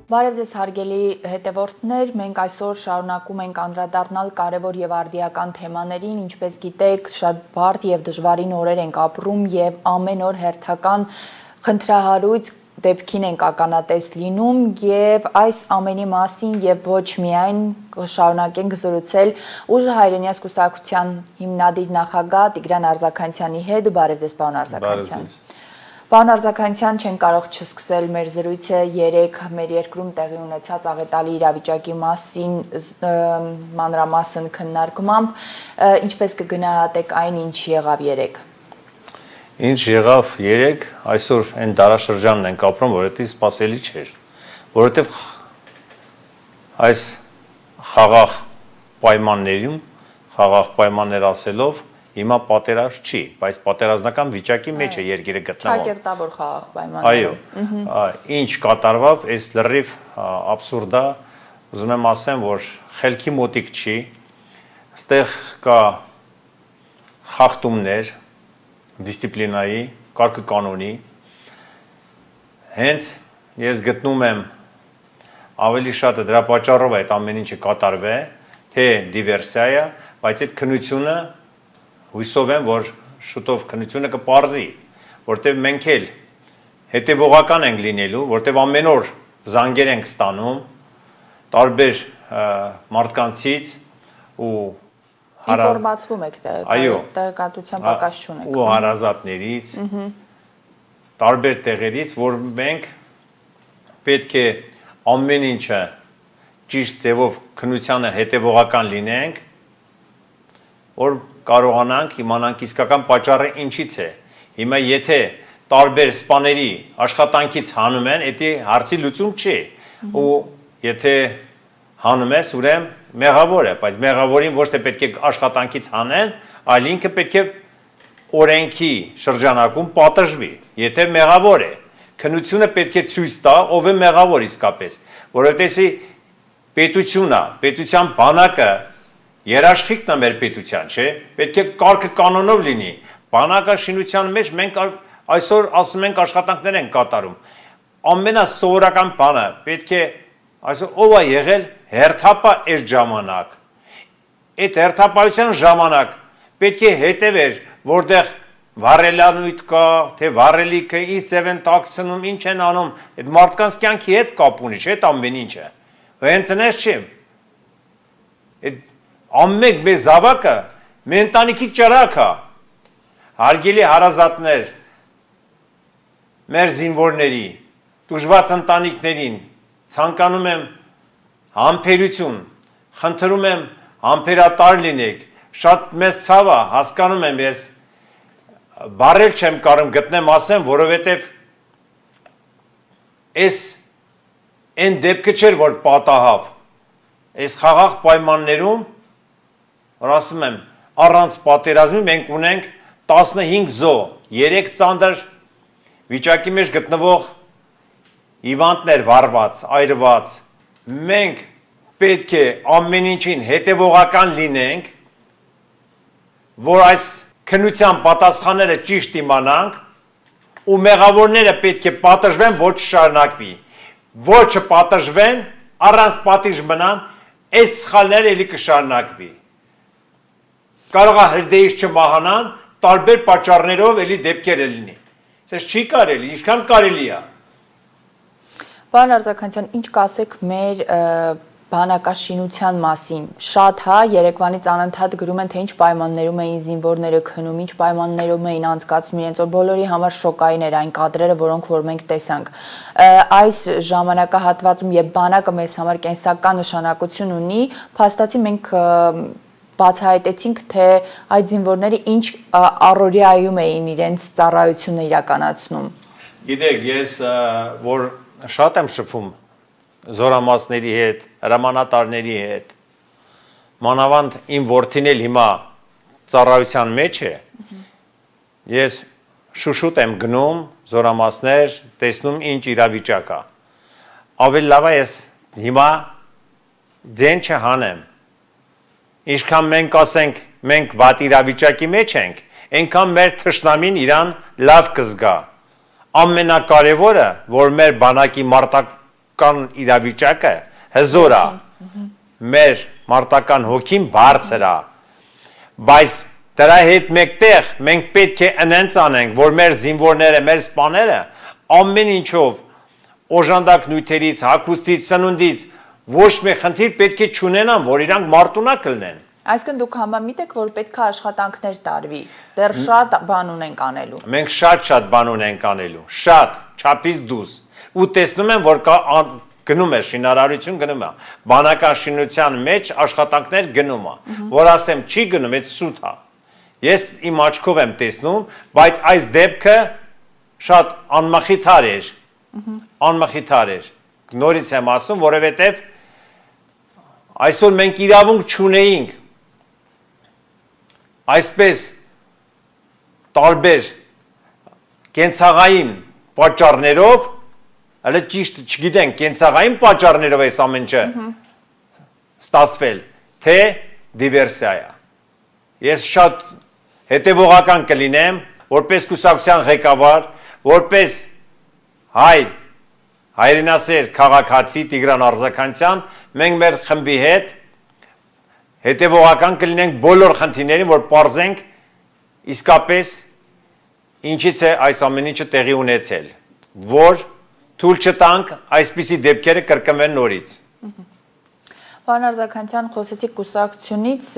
Բարև ձեզ հարգելի հետևորդներ, մենք այսօր շարունակում ենք անդրադառնալ կարևոր եւ արդիական թեմաներին, ինչպես գիտեք, շատ բարդ եւ դժվարին օրեր ենք ապրում եւ ամեն օր հերթական խնդրահարույց դեպքին ենք ականատես լինում եւ այս ամենի մասին եւ ոչ միայն շարունակենք զրուցել Ուժը հայրենիաց կուսակցության հիմնադիր նախագահ Տիգրան Արձաքանյանի հետ։ Բարև ձեզ, պարոն Արձաքանյան։ Պարոն Արձաքանյան, չեն կարող չսկսել մեր զրույցը երեկ մեր երկրում տեղի ունեցած աղետալի իրավիճակի մասին մանրամասն քննարկմամբ, ինչպես կգնահատեք այն, ինչ եղավ երեկ։ Ինչ եղավ երեկ, այսօր այն դարաշրջանն ենք ապրում, որովհետև սպասելի չէր, որովհետև այս խաղաղ պայմաններ ասելով հիմա պատերազմ չի, բայց պատերազմական վիճակի մեջ է երկիրը գտնվում։ Ճակերտավոր խաղաղ պայմաններ։ Այո, ինչ կատարվավ, այս լրիվ աբսուրդ է, ուզում եմ ասեմ, որ խելքի մոտիկ չի, այստեղ կա խախտումներ, դիսցիպլինայի, կարգուկանոնի, հենց ես գտնում եմ ավելի շատը դրա պատճառով այդ ամեն ինչը կատարվե, թե դիվերսիա է, բայց այդ քննությունը հույսով եմ, որ շուտով քննությունը կպարզի, որտեղ մենք էլ հետևողական ենք լինելու, որտեղ ամեն օր զանգեր ենք ստանում տարբեր մարդկանցից ու ինֆորմացվում եք տեղեկատվության պակաս չունեք։ Ու հարազատներից, տարբեր տեղերից, որ մենք պետք է ամեն ինչը ճիշտ ձևով քննությանը հետևողական լինենք, որ կարողանանք իմանանք իսկական պատճառը ինչից է։ Հիմա եթե տարբեր սպաների աշխատանքից հանում են, դա հարցի լուծում չի։ Ու եթե հանում ես, ուրեմն մեղավոր է, բայց մեղավորին ոչ թե պետք է աշխատանքից հանեն, այլ ինքը պետք է օրենքի շրջանակում պատժվի, եթե մեղավոր է։ Քննությունը պետք է ցույց տա, ով է մեղավոր իսկապես, որովհետեւ պետությունն է, պետության բանակը երաշխիքն է մեր պետության, չէ՞։ Պետք է կարգը կանոնով լինի։ Բանակաշինության մեջ մենք այսօր ասում ենք աշխատանքներ են կատարում։ Ամենասովորական բանը պետք է այսօր ով է եղել հերթապա այս ժամանակ։ Այդ հերթապայության ժամանակ պետք է հետևեր, որտեղ վառելանույթ կա, թե վառելիքը ինչ ձև են տաքցնում, ինչ են անում, այդ մարդկանց կյանքի հետ կապ ունի, չէ՞, այդ ամեն ինչը։ Հենց այնպես չի։ Այդ ամեն մեր զավակը մեր ընտանիքի ճրագ է։ Հարգելի հարազատներ, մեր զինվորների, տուժված ընտանիքներին ցանկանում եմ համբերություն, խնդրում եմ համբերատար լինեք, շատ մեծ ցավ է, հասկանում եմ ես, բարել չեմ կարող գտնեմ ասեմ, որովհետև այս այն դեպքը չէր, որ պատահավ, այս խաղաղ պայմաններում, որ ասում եմ, առանց պատերազմի մենք ունենք 15 զո, 3 ծանր վիճակի մեջ գտնվող հիվանդներ վառված, այրված, մենք պետք է ամեն ինչին հետևողական լինենք, որ այս քննության պատասխանները ճիշտ իմանանք ու մեղավորները պետք է պատժվեն, ոչ շարունակվի, ոչ չպատժվեն, առանց պատիժ մնան, այս սխալները էլի կշարունակվի։ Կարող է հրդեհից չմահանան, տարբեր պատճառներով էլի դեպքեր լինի։ Սա չի կարելի, ինչքան կարելի է։ Պարոն Արձաքանյան, ինչ կասեք մեր բանակաշինության մասին, շատ հա, երեկվանից անընդհատ գրում են, թե ինչ պայմաններում էին զինվորները քնում, ինչ պայմաններում էին անցկացնում իրենց, որ բոլորի համար շոկային էր այն կադրերը, որոնք որ մենք տեսանք։ Այս ժամանակահատվածում, երբ բանակը մեզ համար կենսական նշանակություն ունի, փաստացի մենք բացահայտեցինք, թե այդ զինվորները ինչ առօրյայում էին իրենց ծառայությունը իրականացնում։ Գիտեք, ես որ շատ եմ շփվում զորամասների հետ, հրամանատարների հետ, մանավանդ իմ որդին էլ հիմա ծառայության մեջ է, ես շուշուտ եմ գնում զորամասներ, տեսնում ինչ իրավիճակ է։ Ավելի լավ է ես հիմա ձեն չհանեմ։ Ինչքան մենք ասենք, մենք վատ իրավիճակի մեջ ենք, այնքան մեր թշնամին իրան լավ կզգա։ Ամենակարևորը, որ մեր բանակի կան իրավիճակը հզոր է, մեր մարտական հոգին բարձր է, բայց դրա հետ մեկտեղ մենք պետք է ընենց անենք, որ մեր զինվորները, մեր սպաները ամեն ինչով օժանդակ նյութերից, հագուստից, սնունդից ոչ մի խնդիր պետք է չունենան, որ իրանք մարտունակ լինեն։ Այսինքն դուք համամիտ եք, որ պետք է աշխատանքներ տարվի, դեռ շատ բան ունենք անելու։ Մենք շատ բան ունենք անելու, շատ, չափից դուրս, ու տեսնում եմ, որ գնում է շինարարություն, գնում է, բանական շինության մեջ աշխատանքներ գնում է, որ ասեմ չի գնում, այդ սուտ է։ Ես իմ աչքով եմ տեսնում, բայց այս դեպքը շատ անմխիթար էր, նորից եմ ասում, որովհետև այսօր մենք իրավունք չունեինք այսպես տարբեր կենցաղային պատճառներով, հələ ճիշտ չգիտենք, կենցաղային պատճառներով այս ամեն ինչը ստացվել, թե դիվերսիա է։ Ես շատ հետևողական կլինեմ, որպես կուսակցության ղեկավար, որպես հայրենասեր քաղաքացի Տիգրան Արձականյան, մենք մեր խմբի հետ հետևողական կլինենք բոլոր խնդիրներին, որ պարզենք իսկապես ինչից է այս ամեն ինչը տեղի ունեցել, որ թույլ չտանք այսպիսի դեպքերը կրկնվեն նորից։ Պարոն Արձականյան, խոսեցիք կուսակցությունից,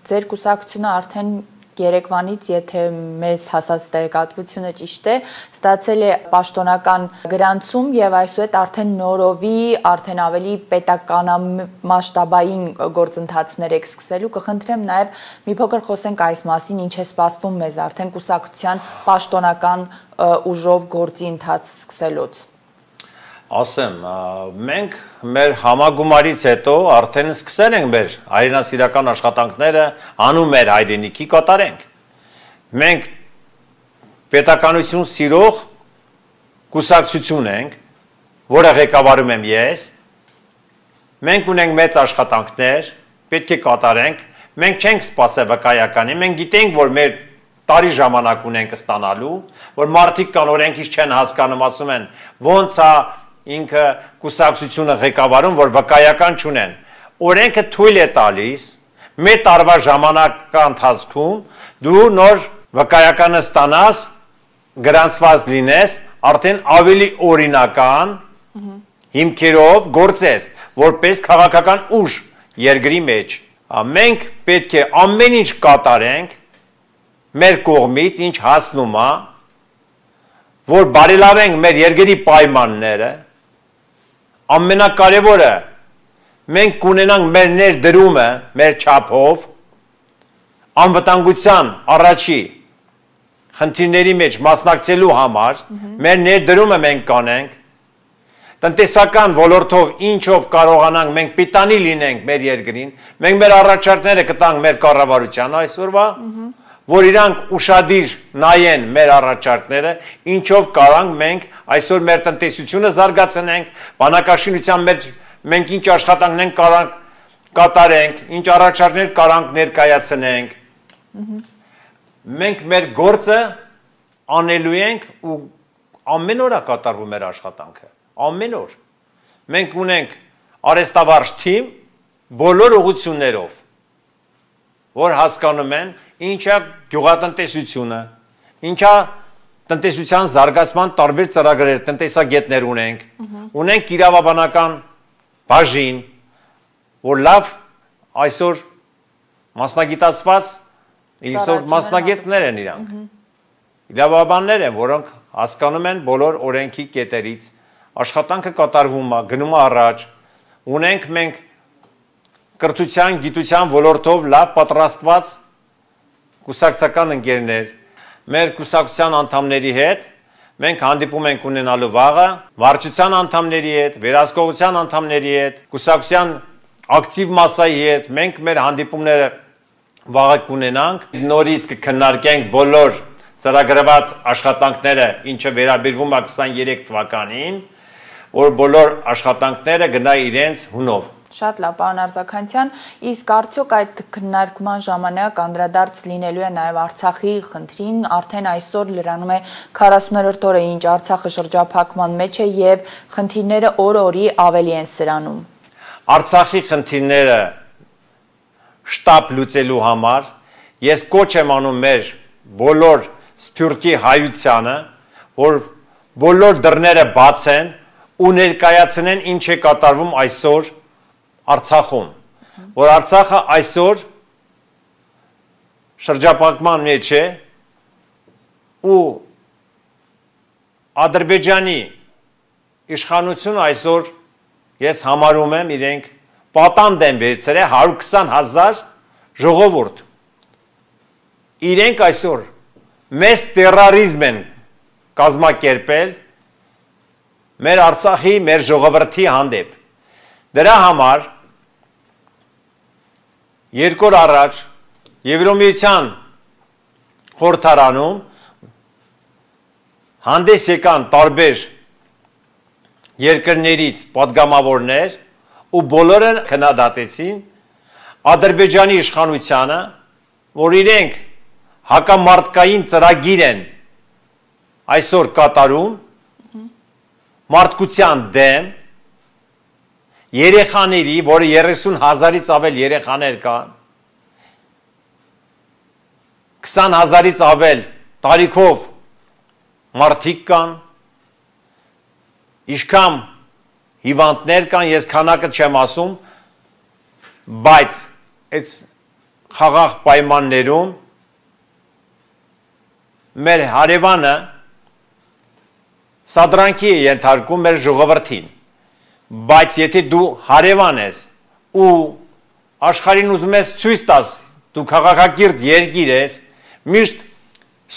ձեր կուսակցությունը արդեն երեկվանից, եթե մեզ հասած տեղեկատվությունը ճիշտ է, ստացել է պաշտոնական գրանցում եւ այսուհետ արդեն նորովի, արդեն ավելի պետականամասշտաբային գործընթացներ եք սկսելու, կխնդրեմ նաեւ մի փոքր խոսենք այս մասին, ինչ է սպասվում մեզ արդեն կուսակցության պաշտոնական ուժով գործի ընթաց սկսելուց։ Ասեմ, մենք մեր համագումարից հետո արդեն սկսել ենք մեր հայրենասիրական աշխատանքները անուն մեր հայրենիքի կատարենք։ Մենք պետականություն սիրող կուսակցություն ենք, որը ղեկավարում եմ ես։ Մենք ունենք մեծ աշխատանքներ, պետք է կատարենք։ Մենք չենք սպասել վկայականին, մենք գիտենք, որ մեր տարի ժամանակ ունենք ստանալու, որ մարդիկ կան օրենքից չեն հասկանում, ասում են, ոնց է ինքը կուսակցությունը ղեկավարում, որ վկայական չունեն։ Օրենքը թույլ է տալիս, մեր տարվա ժամանակա ընթացքում դու նոր վկայականը ստանաս, գրանցված լինես, արդեն ավելի օրինական հիմքերով գործես, որպես քաղաքական ուժ երկրի մեջ։ Մենք պետք է ամեն ինչ կատարենք մեր կողմից, ինչ հասնում է, որ բարելավենք մեր երկրի պայմանները։ Ամենակարևորը մենք կունենանք մեր ներդրումը, մեր չափով, անվտանգության առաջի խնդիրների մեջ մասնակցելու համար, մեր ներդրումը մենք կանենք, տնտեսական ոլորտով ինչով կարողանանք մենք պիտանի լինենք մեր երկրին, մենք մեր առաջարկները կտանք մեր կառավարությանը այսօրվա, որ իրանք ուշադիր նայեն մեր առաջարկները, ինչով կարանք մենք այսօր մեր տնտեսությունը զարգացնենք, բանակաշինության մենք ինչ աշխատանքներ կարանք կատարենք, ինչ առաջարկներ կարանք ներկայացնենք։ Մենք մեր գործը անելու ենք ու ամեն օր է կատարվում մեր աշխատանքը, ամեն օր։ Մենք ունենք արհեստավարժ թիմ բոլոր ուղղություններով, որ հասկանում են ինչա գյուղատնտեսությունը, ինչա տնտեսության զարգացման տարբեր ծրագրեր, տնտեսագետներ ունենք իրավաբանական բաժին, որ լավ այսօր մասնագիտացված մասնագետներ են իրանք, իրավաբաններ են, որոնք հասկանում են բոլոր օրենքի կետերից, աշխատանքը կատարվում է, գնում է առաջ, ունենք մենք կրթության, գիտության ոլորտով լավ պատրաստված կուսակցական ընկերներ, մեր կուսակցության անդամների հետ մենք հանդիպում ենք ունենալու վաղը, վարչության անդամների հետ, վերահսկողության անդամների հետ, կուսակցության ակտիվ մասայի հետ, մենք մեր հանդիպումները վաղը կունենանք, նորից կքննարկենք բոլոր ծրագրված աշխատանքները, ինչը վերաբերվում է 23 թվականին, որ բոլոր աշխատանքները գնա իրենց հունով։ Շատ լավ, պարոն Արձաքանցյան, իսկ արդյոք այդ քննարկման ժամանակ անդրադարձ լինելու է նաև Արցախի խնդրին, արդեն այսօր լրանում է 40-րդ օրը, ինչ Արցախը շրջափակման մեջ է եւ խնդիրները օր-օրի ավելի են սրանում։ Արցախի խնդիրները շտապ լուծելու համար ես կոչ եմ անում մեր բոլոր սփյուռքի հայությանը, որ բոլոր դռները բաց են ու ներկայացնեն ինչ է կատարվում այսօր Արցախում, որ Արցախը այսօր շրջափակման մեջ է ու Ադրբեջանի իշխանությունը այսօր ես համարում եմ իրենք պատանդ են վերցրել 120,000 ժողովուրդ։ Իրենք այսօր մեծ տերորիզմ են կազմակերպել մեր Արցախի, մեր ժողովրդի հանդեպ։ Դրա համար երկու օր առաջ Եվրոմիության խորհրդարանում հանդես եկան տարբեր երկրներից պատգամավորներ ու բոլորը քննադատեցին Ադրբեջանի իշխանությանը, որ իրենք հակամարտկային ծրագիր են այսօր կատարում մարդկության դեմ երեխաների, որը 30,000-ից ավել երեխաներ կան, 20,000-ից ավել տարիքով մարդիկ կան, իշքամ հիվանդներ կան, ես քանակը չեմ ասում, բայց այդ խաղաղ պայմաններում մեր հարևանը սադրանքի է ենթարկում մեր ժողովրդին, բայց եթե դու հարևան ես ու աշխարհին ուզում ես ցույց տաս, դու քաղաքակիրթ երկիր ես, միշտ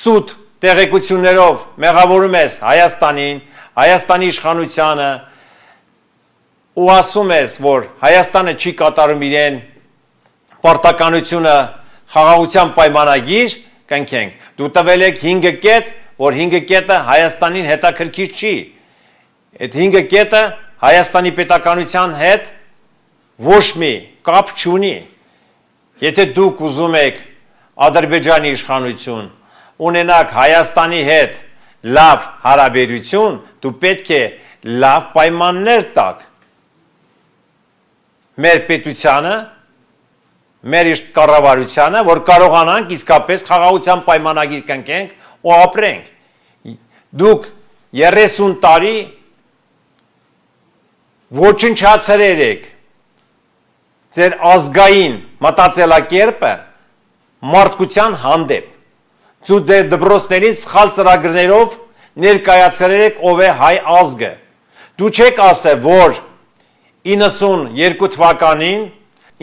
սուտ տեղեկություններով մեղավորում ես Հայաստանին, Հայաստանի իշխանությանը ու ասում ես, որ Հայաստանը չի կատարում իրեն պարտականությունը խաղաղության պայմանագիր կնքենք, դու տվել եք 5 կետ, որ 5 կետը Հայաստանին հետաքրքիր չի, այդ 5 կետը Հայաստանի պետականության հետ ոչ մի կապ չունի, եթե դուք ուզում եք Ադրբեջանի իշխանություն ունենաք Հայաստանի հետ լավ հարաբերություն, դու պետք է լավ պայմաններ տաք մեր պետությանը, մեր կառավարությանը, որ կարողանանք իսկապես խաղաղության պայմանագիր կնքենք ու ապրենք։ Դուք 30 տարի ոչնչացրել եք ձեր ազգային մտածելակերպը մարդկության հանդեպ։ Դու ձեր դպրոցներին սխալ ծրագրերով ներկայացրել եք ով է հայ ազգը։ Դու չեք ասել, որ 92 թվականին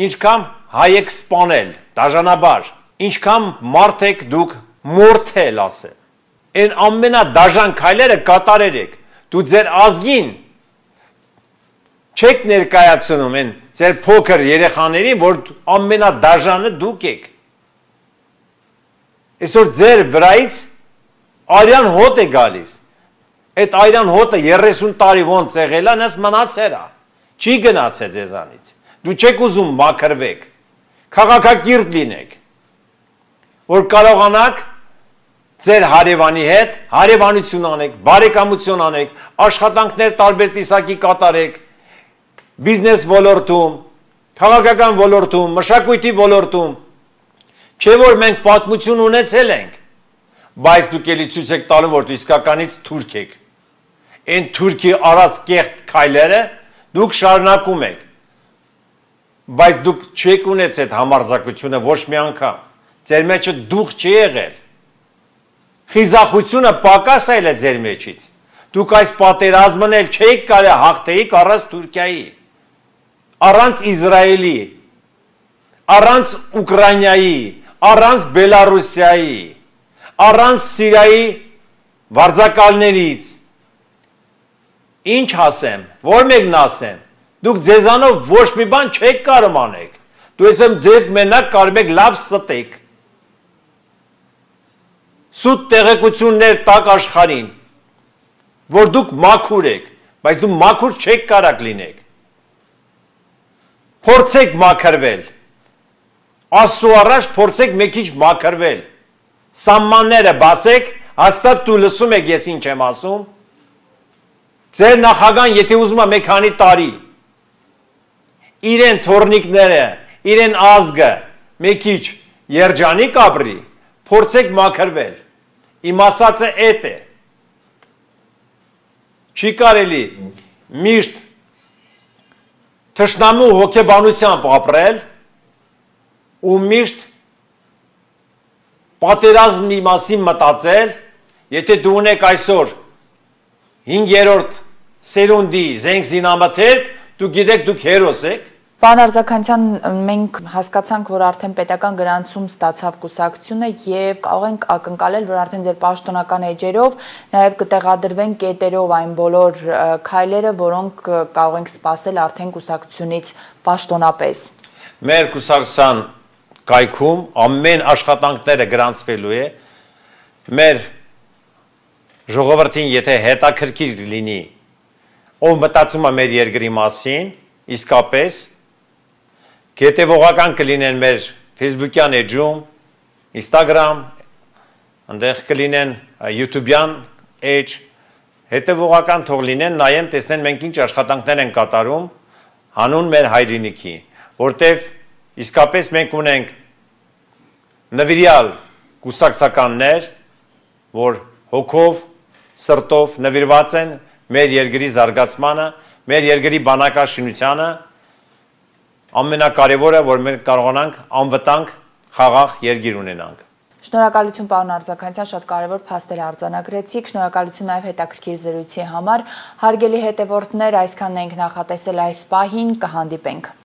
ինչքան հայ եք սպանել, դաժանաբար, ինչքան մարդ եք դուք մորթել ասել։ Այն ամենադաժան քայլերը կատարել եք։ Դու ձեր ազգին չեք ներկայացնում են ձեր փոքր երեխաներին, որ ամենադաժանը դուք եք։ Այսօր ձեր վրայից արյան հոտ է գալիս։ Այդ արյան հոտը 30 տարի ոնց եղել է, նես մնացել է։ Չի գնացել ձեզանից։ Դու չեք ուզում մաքրվեք։ Քաղաքակիրթ լինեք, որ կարողանաք ձեր հարևանի հետ հարևանություն անեք, բարեկամություն անեք, աշխատանքներ տարբեր տեսակի կատարեք, բիզնես ոլորտում, քաղաքական ոլորտում, մշակույթի ոլորտում, չէ որ մենք պատմություն ունեցել ենք, բայց դուք էլի ցույց եք տալու, որ դու իսկականից թուրք եք։ Այն թուրքի արած կեղտ քայլերը դուք շարունակում եք, բայց դուք չեք ունեցել այդ համարձակությունը ոչ մի անգամ, ձեր մեջը դուխ չի եղել, խիզախությունը պակաս է ձեր մեջից, դուք այս պատերազմն էլ չեք կարելի հաղթեիք առանց Թուրքիայի, առանց Իսրայելի, առանց Ուկրաինայի, առանց Բելարուսիայի, առանց Սիրիայի վարձակալներից, ինչ ասեմ, որ մեկն ասեմ, դուք ձեզանով ոչ մի բան չեք կարող անեք, դու ասեմ ձեր մենակ կարող եք լավ ստեք, սուտ տեղեկություններ տակ աշխարհին, որ դուք մաքուր եք, բայց դու մաքուր չեք կարակ լինեք։ Փորձեք մաքրվել։ Աստծո առաջ փորձեք մի քիչ մաքրվել։ Սահմանները բացեք, հաստատ դու լսում եք ես ինչ եմ ասում։ Ձեր նախագահան, եթե ուզում է մի քանի տարի իրեն թորնիկները, իրեն ազգը մի քիչ երջանիկ ապրի, փորձեք մաքրվել։ Իմ ասածը էդ է։ Չի կարելի միշտ թշնամու հոգեբանությամբ ապրել ու միշտ պատերազմի մասին մտածել, եթե դու ունեք այսօր 5-րդ սերունդի զենք զինամթերք, դու գիտեք դուք հերոս եք։ Պարոն Արձաքանցյան, մենք հասկացանք, որ արդեն պետական գրանցում ստացավ կուսակցությունը եւ կարող ենք ակնկալել, որ արդեն ձեր պաշտոնական էջերով նաեւ կտեղադրվեն կետերով այն բոլոր քայլերը, որոնք կարող ենք սպասել արդեն կուսակցությունից պաշտոնապես։ Մեր կուսակցության կայքում ամեն աշխատանքները գրանցվելու է։ Մեր ժողովրդին եթե հետաքրքիր լինի, ով մտածում է մեր երկրի մասին, իսկապես հետևողական կլինեն մեր Facebook-յան էջում, Instagram, այնտեղ կլինեն YouTube-յան էջ, հետևողական թող լինեն, նայեն, տեսնեն մենք ինչ աշխատանքներ են կատարում հանուն մեր հայրենիքի, որտև իսկապես մենք ունենք նվիրյալ կուսակցականներ, որ հոգով, սրտով նվիրված են մեր երկրի զարգացմանը, մեր երկրի բանակաշինությանը, ամենակարևորը, որ մենք կարողանանք անվտանգ խաղաղ երկիր ունենանք։ Շնորհակալություն պարոն Արձաքանցյան, շատ կարևոր փաստեր արձանագրեցիք, շնորհակալություն նաև հետաքրքիր զրույցի համար։ Հարգելի հետևորդներ, այսքանն ենք նախատեսել այս պահին, կհանդիպենք։